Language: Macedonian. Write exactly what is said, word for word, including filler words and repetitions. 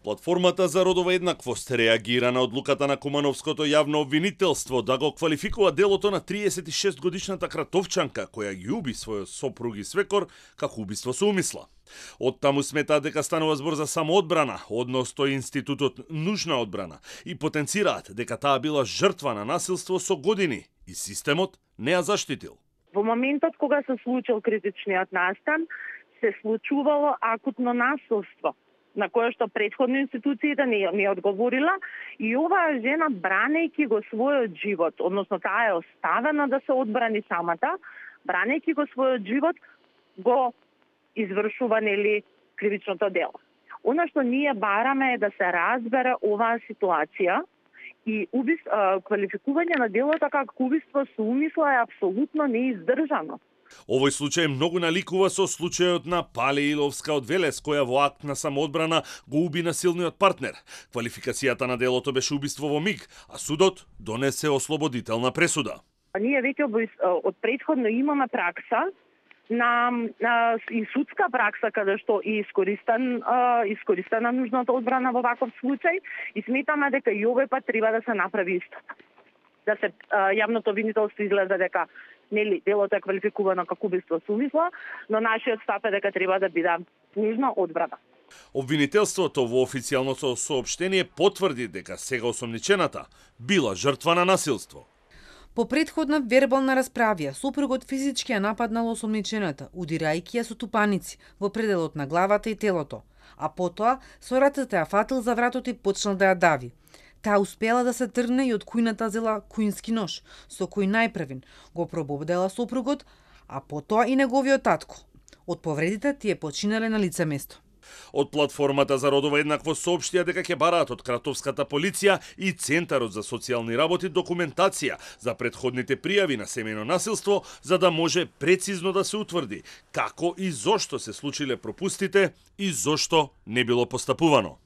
Платформата за родова еднаквост реагира на одлуката на Кумановското јавно обвинителство да го квалификува делото на триесет и шест годишната кратовчанка која ги уби својот сопруг и свекор како убиство со умисла. Од таму сметаат дека станува збор за самоодбрана, односно институтот нужна одбрана, и потенцираат дека таа била жртва на насилство со години и системот не ја заштитил. Во моментот кога се случил критичниот настан, се случувало акутно насилство, на кое што претходно институциите не, не одговорила, и оваа жена, бранејќи го својот живот, односно таа е оставена да се одбрани самата, бранејќи го својот живот, го извршува нели кривичното дело. Она што ние бараме е да се разбере оваа ситуација и убис, а, квалификување на делото како убиство со умисла е апсолутно неиздржано. Овој случај многу наликува со случајот на Пале Иловска од Велес, која во акт на самоодбрана го уби насилниот партнер. Квалификацијата на делото беше убиство во миг, а судот донесе ослободителна пресуда. Ние веќе од претходно имаме пракса на, на и судска пракса каде што и искористен искористена нужната одбрана во ваков случај, и сметаме дека и овој пат треба да се направи истото. Да се а, јавното обвинителство изгледа дека нели делото е квалификувано како убиство со умисла, но нашиот став е дека треба да биде нужна одбрана. Обвинителството во официјалното соопштение потврди дека сега осомничената била жртва на насилство. По претходна вербална расправија, сопругот физички ја нападнал осомничената, удирајќи ја со тупаници во пределот на главата и телото, а потоа со рацете ја фатил за вратот и почнал да ја дави. Таа успела да се тргне и од кујната зела куински нож, со кој најпрвен го пробовдела сопругот, а потоа и неговиот татко. Од повредите тие починале на лице место. Од платформата за родова еднаквост соопштија дека ќе бараат од Кратовската полиција и Центарот за социјални работи документација за претходните пријави на семејно насилство, за да може прецизно да се утврди како и зошто се случиле пропустите и зошто не било постапувано.